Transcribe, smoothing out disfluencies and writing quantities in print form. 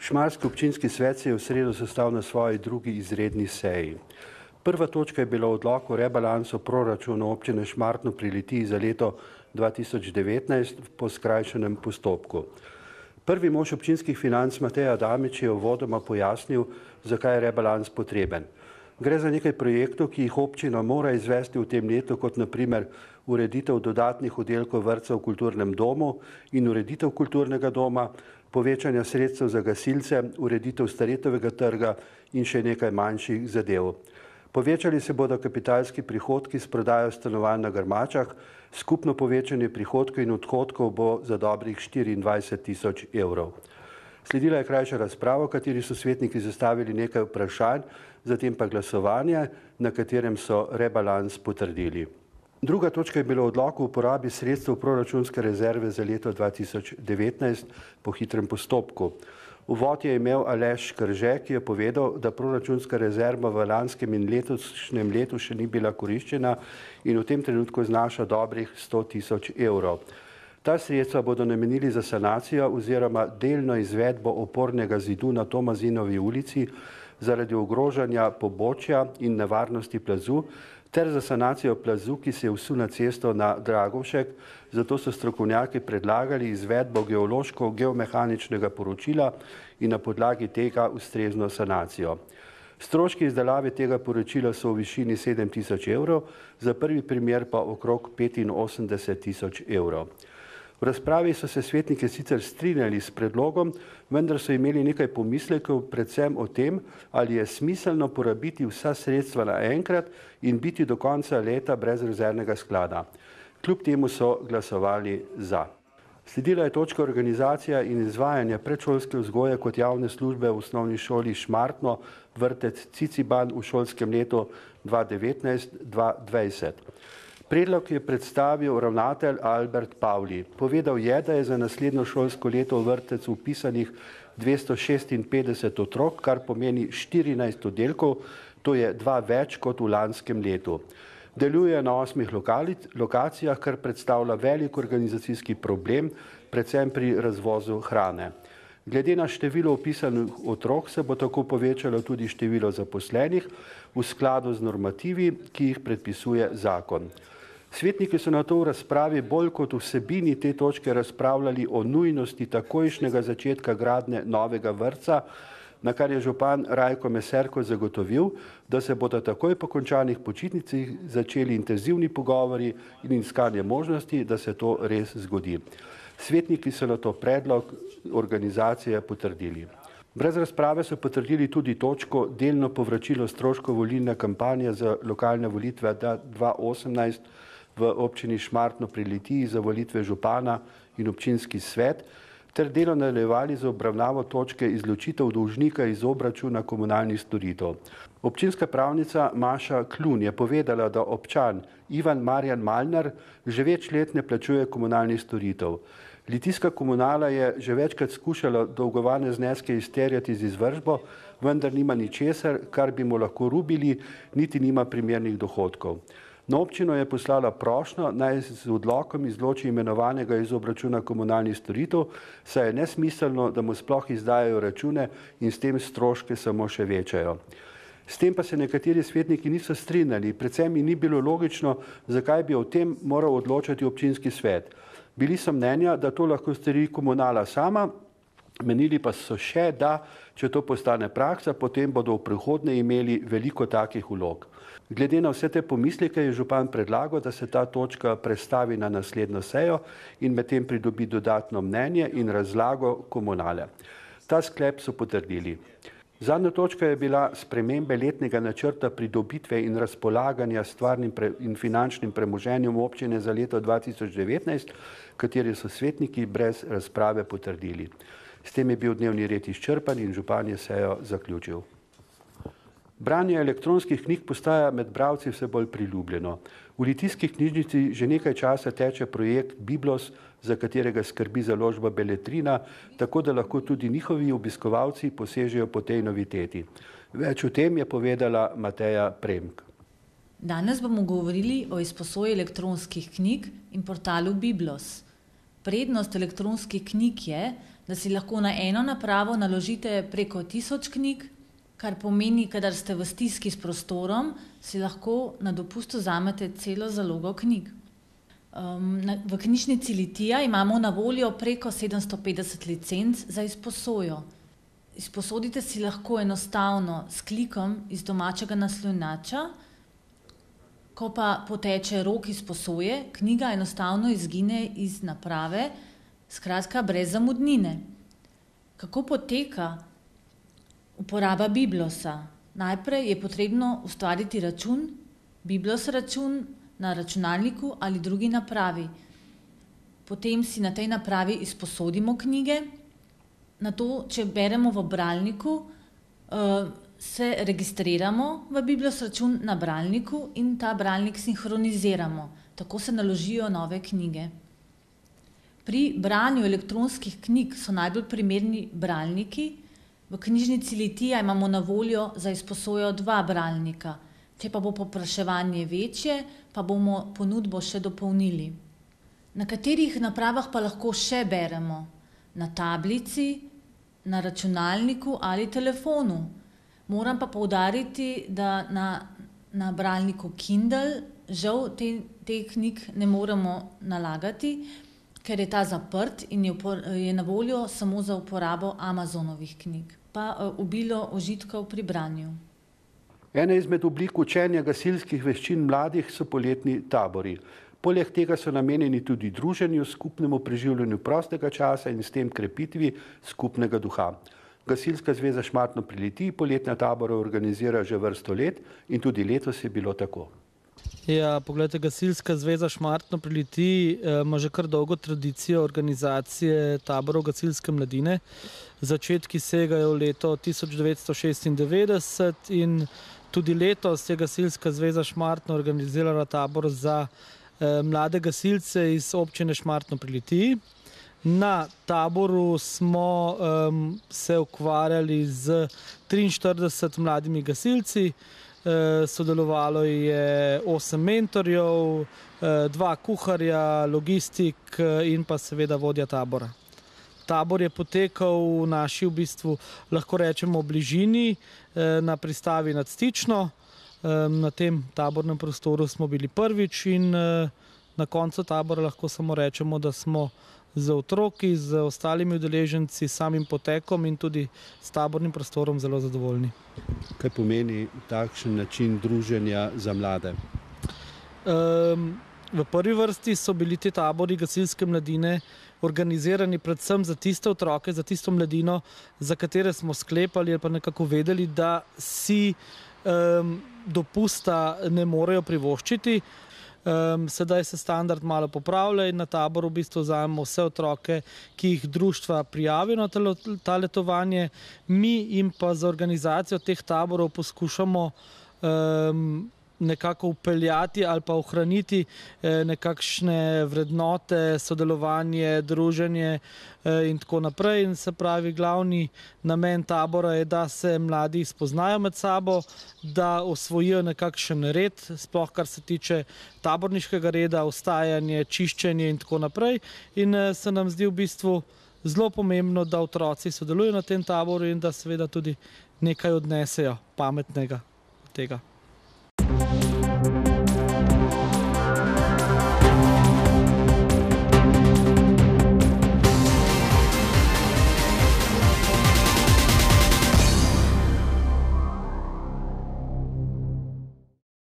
Šmarski občinski svet se je v sredo sestal na svoji drugi izredni seji. Prva točka je bila odlok o rebalansu proračuna občine Šmartno pri Litiji za leto 2019 po skrajšanem postopku. Prvi mož občinskih financ Matej Adamič je uvodoma pojasnil, zakaj je rebalans potreben. Gre za nekaj projektov, ki jih občina mora izvesti v tem letu, kot naprimer ureditev dodatnih oddelkov vrtca v kulturnem domu in ureditev kulturnega doma, povečanja sredstev za gasilce, ureditev Staretovega trga in še nekaj manjših zadev. Povečali se bodo kapitalski prihodki s prodajo stanovanj na Grmačah, skupno povečanje prihodkov in odhodkov bo za dobrih 24.000 evrov. Sledila je krajša razprava, v kateri so svetniki zastavili nekaj vprašanj, zatem pa glasovanje, na katerem so rebalans potrdili. Druga točka je bila odlok o uporabi sredstev proračunske rezerve za leto 2019 po hitrem postopku. Uvod je imel Aleš Krže, ki je povedal, da proračunska rezerva v lanskem in letošnjem letu še ni bila koriščena in v tem trenutku znaša dobrih 100.000 evrov. Ta sredstva bodo namenili za sanacijo oziroma delno izvedbo opornega zidu na Tomazinovi ulici zaradi ogrožanja pobočja in nevarnosti plazu ter za sanacijo plazu, ki se je vsul na cesto na Dragovšek, zato so strokovnjaki predlagali izvedbo geološko-geomehaničnega poročila in na podlagi tega ustrezno sanacijo. Stroški izdelave tega poročila so v višini 7.000 evrov, za prvi primer pa okrog 85.000 evrov. V razpravi so se svetniki sicer strinjali s predlogom, vendar so imeli nekaj pomislekov predvsem o tem, ali je smiselno porabiti vsa sredstva naenkrat in biti do konca leta brez rezervnega sklada. Kljub temu so glasovali za. Sledila je točka organizacija in izvajanja predšolske vzgoje kot javne službe v osnovni šoli Šmartno, vrtec Ciciban v šolskem letu 2019-2020. Predlog je predstavil ravnatelj Albert Pavli. Povedal je, da je za naslednjo šolsko leto v vrtec vpisanih 256 otrok, kar pomeni 14 oddelkov, to je 2 več kot v lanskem letu. Deluje na 8 lokacijah, kar predstavlja velik organizacijski problem, predvsem pri razvozu hrane. Glede na število vpisanih otrok se bo tako povečalo tudi število zaposlenih v skladu z normativi, ki jih predpisuje zakon. Svetniki so na to v razpravi bolj kot vsebini te točke razpravljali o nujnosti takojšnjega začetka gradnje novega vrtca, na kar je župan Rajko Meserko zagotovil, da se bodo takoj po končanih počitnicah začeli intenzivni pogovori in iskanje možnosti, da se to res zgodi. Svetniki so na to predlog organizacije potrdili. Brez razprave so potrdili tudi točko delno povračilo stroškov volilne kampanje za lokalne volitve 2018 v občini Šmartno pri Litiji za volitve župana in občinski svet, ter delo nadaljevali za obravnavo točke izločitev dolžnika iz obračuna komunalnih storitev. Občinska pravnica Maša Klun je povedala, da občan Ivan Marjan Malnar že več let ne plačuje komunalnih storitev. Litijska komunala je že večkrat skušala dolgovane zneske izterjati z izvršbo, vendar nima ničesar, kar bi mu lahko rubili, niti nima primernih dohodkov. Na občino je poslala prošnjo, naj z odlokom izloči imenovanega iz obračuna komunalnih storitev, saj je nesmiselno, da mu sploh izdajajo račune in s tem stroške samo še večajo. S tem pa se nekateri svetniki niso strinjali, predvsem jim ni bilo logično, zakaj bi o tem moral odločati občinski svet. Bili so mnenja, da to lahko stori komunala sama, menili pa so še, da če to postane praksa, potem bodo v prihodnje imeli veliko takih vlog. Glede na vse te pomisleke je župan predlagal, da se ta točka prestavi na naslednjo sejo in medtem pridobi dodatno mnenje in razlago komunale. Ta sklep so potrdili. Zadnja točka je bila spremembe letnega načrta pridobitve in razpolaganja stvarnim in finančnim premoženjem občine za leto 2019, kateri so svetniki brez razprave potrdili. S tem je bil dnevni red izčrpan in župan je sejo zaključil. Branje elektronskih knjig postaja med bralci vse bolj priljubljeno. V Litijski knjižnici že nekaj časa teče projekt Biblos, za katerega skrbi založba Beletrina, tako da lahko tudi njihovi obiskovalci posežejo po tej noviteti. Več o tem je povedala Mateja Premk. Danes bomo govorili o izposoji elektronskih knjig in portalu Biblos. Prednost elektronskih knjig je, da si lahko na eno napravo naložite preko 1000 knjig, kar pomeni, kadar ste v stiski s prostorom, si lahko na dopustu vzamete celo zalogo knjig. V knjižnici Litija imamo na voljo preko 750 licenc za izposojo. Izposodite si lahko enostavno s klikom iz domačega naslonjača, ko pa poteče rok izposoje, knjiga enostavno izgine iz naprave, skratka brez zamudnine. Kako poteka uporaba Biblosa? Najprej je potrebno ustvariti račun, Biblos račun na računalniku ali drugi napravi. Potem si na tej napravi izposodimo knjige. Nato, če beremo v bralniku, se registriramo v Biblos račun na bralniku in ta bralnik sinhroniziramo. Tako se naložijo nove knjige. Pri branju elektronskih knjig so najbolj primerni bralniki. V knjižnici Litija imamo na voljo za izposojo 2 bralnika. Če pa bo povpraševanje večje, pa bomo ponudbo še dopolnili. Na katerih napravah pa lahko še beremo? Na tablici, na računalniku ali telefonu. Moram pa poudariti, da na bralniku Kindle žal te knjig ne moremo nalagati, ker je ta zaprt in je na voljo samo za uporabo Amazonovih knjig. Pa obilo užitkov pri branju. Ena izmed oblik učenja gasilskih veščin mladih so poletni tabori. Poleg tega so namenjeni tudi druženju, skupnemu preživljanju prostega časa in s tem krepitvi skupnega duha. Gasilska zveza Šmartno pri Litiji poletne tabore organizira že vrsto let in tudi letos je bilo tako. Ja, poglejte, Gasilska zveza Šmartno pri Litiji ima že kar dolgo tradicijo organizacije taborov gasilske mladine. Začetki segajo v leto 1996 in tudi letos je Gasilska zveza Šmartno organizirala tabor za mlade gasilce iz občine Šmartno pri Litiji. Na taboru smo se ukvarjali z 43 mladimi gasilci. Sodelovalo je 8 mentorjev, 2 kuharja, logistik in pa seveda vodja tabora. Tabor je potekal v naši, v bistvu, lahko rečemo, bližini, na pristavi nad Stično. Na tem tabornem prostoru smo bili prvič in na koncu tabora lahko samo rečemo, da smo z otroki, z ostalimi udeleženci, samim potekom in tudi s tabornim prostorom zelo zadovoljni. Kaj pomeni takšen način druženja za mlade? V prvi vrsti so bili ti tabori gasilske mladine organizirani predvsem za tiste otroke, za tisto mladino, za katere smo sklepali ali pa nekako vedeli, da si dopusta ne morejo privoščiti. Sedaj se standard malo popravlja in na taboru v bistvu vzamemo vse otroke, ki jih društva prijavijo na ta letovanje. Mi jim pa za organizacijo teh taborov poskušamo nekako vpeljati ali pa ohraniti nekakšne vrednote, sodelovanje, druženje in tako naprej. In se pravi, glavni namen tabora je, da se mladi spoznajo med sabo, da osvojijo nekakšen red, sploh kar se tiče taborniškega reda, vstajanje, čiščenje in tako naprej. In se nam zdi v bistvu zelo pomembno, da otroci sodelujo na tem taboru in da seveda tudi nekaj odnesejo pametnega od tega.